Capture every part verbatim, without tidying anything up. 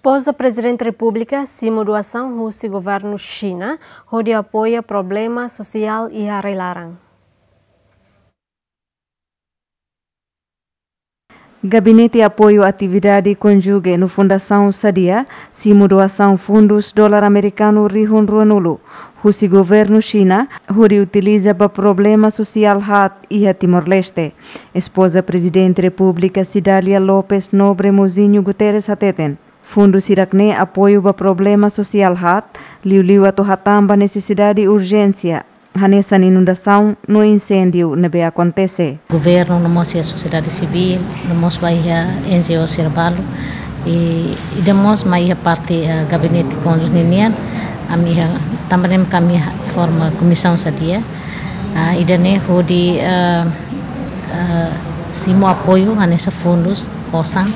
Espoza Prezidente Repúblika simu doasaun husi governu Xina hodi apoia problema sosiál iha rai-laran. Gabinete Apoiu Atividade Konjuge no Fundasaun Sadia simu doasaun fundus dolar amerikanu rihun ruanulu husi governu Xina hodi utiliza ba problema sosiál haat iha Timor-Leste. Espoza Prezidente Repúblika Cidália Lopes Nobre Mozinho Guterres hateten, fundus hirak-ne'e apoiu ba problema sosiál haat, liuliu atu hatán ba nesesidade urjénsia, hanesan inundasaun no inséndiu ne'ebé akontese. Governu no mós iha sosiedade sivíl, no mós ba iha N G O sira balu, i, ida mós mai iha parte, eh, gabinete konjuntu ninian, ami iha, tanba ne'e mak ami forma komisaun Sadia, ah, ida-ne'e hodi, eh, eh, simu apoiu hanesan fundus osan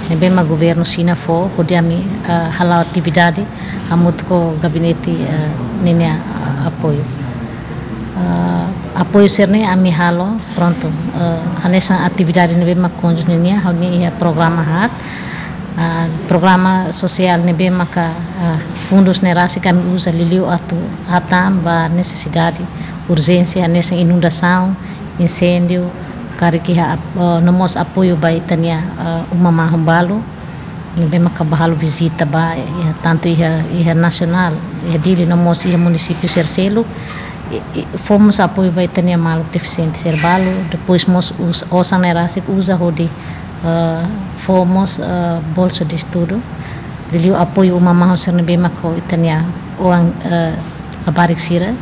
ne'ebé mak governu Xina fó hodi ami, eh, hala'o atividade hamutuk ho gabinete, eh, ninia, eh, apoiu. Eh, apoiu sira-ne'e ami halo, prontu, eh, hanesan atividade ne'ebé mak konjuntu nian, ha'u-nia iha programa haat, ah, programa sosiál ne'ebé maka, ah, fundus ne'e rasik ami uza liuliu atu hatán ba nesesidade urjénsia hanesan inundasaun, inséndiu, karik iha ap-, eh, no mós apoiu ba ita-nia, eh, uma mahon balu ne'ebé maka bá halo vizita ba, iha, tantu iha, iha nasionál, iha Dili no mós iha munisípiu sira seluk, i, i, fó mós apoiu ba ita-nia maluk defisiente sira balu, depois mós us-, osan ne'e rasik uza hodi, eh, fó mós, eh, bolsa de estudu, liuliu apoiu uma mahon sira ne'ebé mak ho ita-nia oan, eh, labarik sira,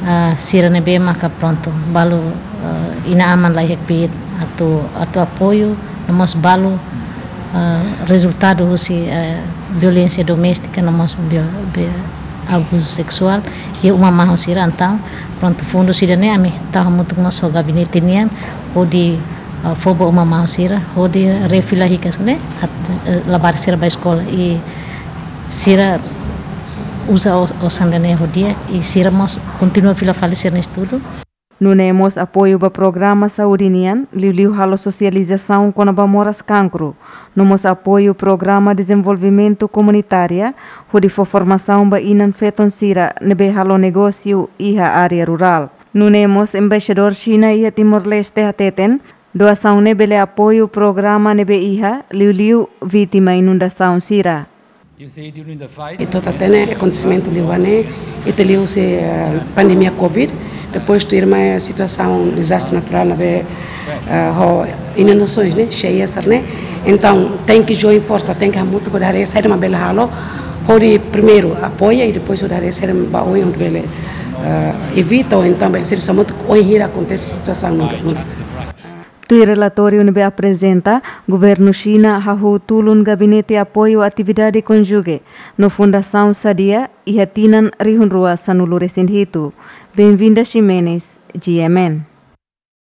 ah, sira ne'ebé maka prontu, balu, ah, inan-aman la iha kbiit atu, atu apoiu, no mós balu, ah, rezultadu husi, eh, violénsia doméstika, no mós bio-, bio-, abuzu seksuál iha uma mahon sira, entaun, prontu, fundus ida-ne'e ami tau hamutuk mós ho gabinete nian, hodi, ah, fó ba uma mahon sira, hodi refila hikas ne'e, at-, eh, labarik sira bá eskola, i sira uza o-, osan ida-ne'e ho di'ak, i sira mós kontinua fila fali sira-nia estudu. Nune'e mós apoiu ba programa saúde nian, liuliu halo sosializasaun kona-ba moras kankru. No mós apoiu programa dezenvolvimentu komunitária, hodi fó formasaun ba inan-feton sira ne'ebé halo negósiu iha área rurál. Nune'e mós embaixadór Xina iha Timor-Leste hateten, doasaun ne'e bele apoiu programa ne'ebé iha, liuliu vítima inundasaun sira. Ita hatene akontesimentu liubá ne'e, ita liu husi, eh, pandemia covid, depois tuirmai situasaun dezastre naturál ne'ebé, eh, ho inundasoens ne'e, xeias ne'e. Entaun, tenke join forsa, tenke hamutuk hodi haree saida mak bele halo, hodi primeiru apoia i depois hodi haree saida mak bá oin hodi bele, eh, evita ou entaun bele servisu hamutuk oin hira akontese situasaun muda, muda. Tuir relatóriu ne'ebé aprezenta, governu Xina hahú tulun Gabinete Apoiu Atividade Konjuge no Fundasaun Sadia iha tinan rihun rua sanulu-resin-hitu. Benvinda Ximenes, G M N.